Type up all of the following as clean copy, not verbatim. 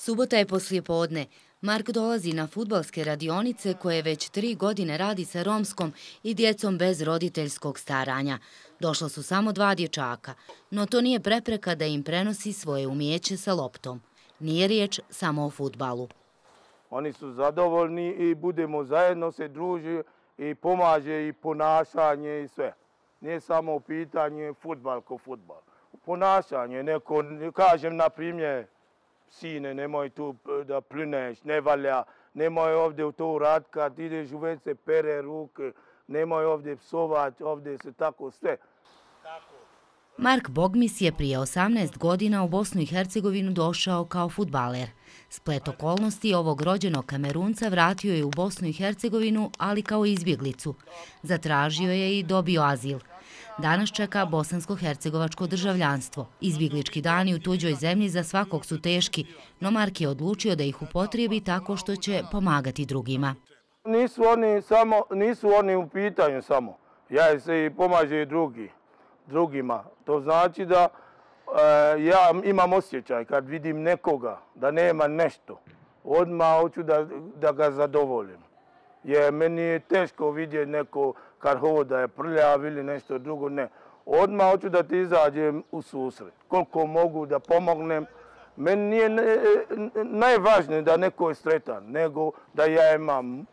Subota je poslijepodne. Mark dolazi na fudbalske radionice koje već 3 godine radi sa romskom i djecom bez roditeljskog staranja. Došla su samo 2 dječaka, no to nije prepreka da im prenosi svoje umijeće sa loptom. Nije riječ samo o fudbalu. Oni su zadovoljni i budemo zajedno se druži i pomaže i ponašanje i sve. Nije samo pitanje fudbal ko fudbal. Ponašanje, neko, kažem na primjer, sine, nemoj tu da plineš, ne valja, nemoj ovdje to uraditi kad ideš u WC, pere ruke, nemoj ovdje psovati, ovdje se tako sve. Mark Bogmis je prije 18 godina u Bosnu i Hercegovinu došao kao fudbaler. Splet okolnosti ovog rođenog Kamerunca vratio je u Bosnu i Hercegovinu, ali kao izbjeglicu. Zatražio je i dobio azil. Danas čeka bosansko-hercegovačko državljanstvo. Izbjeglički dani u tuđoj zemlji za svakog su teški, no Mark je odlučio da ih upotrijebi tako što će pomagati drugima. Nisu oni u pitanju samo. Ja se i pomaže i drugima. To znači da ja imam osjećaj kad vidim nekoga da nema nešto. Odmah hoću da ga zadovoljim. Jer meni je teško vidjeti neko kad hoda je prljav ili nešto drugo, ne. Odmah hoću da ti izađem u susret. Koliko mogu da pomognem. Meni nije najvažnije da neko je sretan, nego da ja imam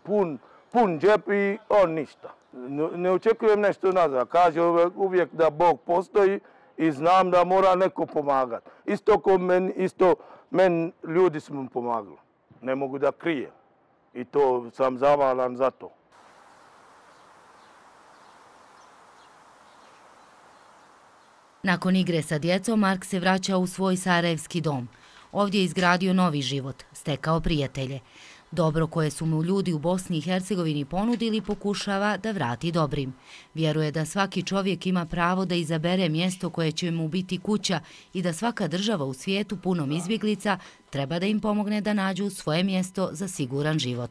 pun džep i on ništa. Ne očekujem nešto nazad. Kaže uvijek da Bog postoji i znam da mora neko pomagati. Isto meni ljudi su mi pomagali. Ne mogu da krijem. I to sam zavalan za to. Nakon igre sa djecom, Mark se vraća u svoj sarajevski dom. Ovdje je izgradio novi život, stekao prijatelje. Dobro koje su mu ljudi u Bosni i Hercegovini ponudili pokušava da vrati dobrim. Vjeruje da svaki čovjek ima pravo da izabere mjesto koje će mu biti kuća i da svaka država u svijetu punom izbjeglica treba da im pomogne da nađu svoje mjesto za siguran život.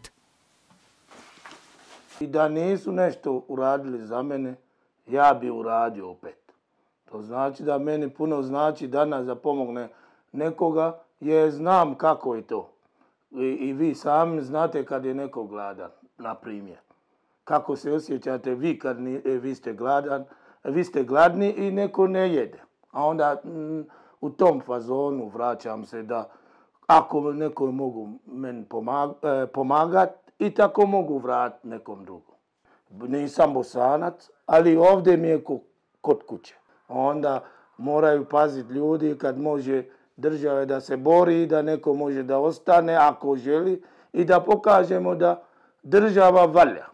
I da nisu nešto uradili za mene, ja bi uradio opet. To znači da meni puno znači danas da pomogne nekoga jer znam kako je to. I vi sami znate kad je neko gladan, na primjer. Kako se osjećate vi kad vi ste gladni i neko ne jede. A onda u tom fazonu vraćam se da ako neko mogu meni pomagati i tako mogu vratiti nekom drugom. Nisam Bosanac, ali ovdje mi je kod kuće. Onda moraju paziti ljudi kad može države da se bori, da neko može da ostane ako želi i da pokažemo da država valja.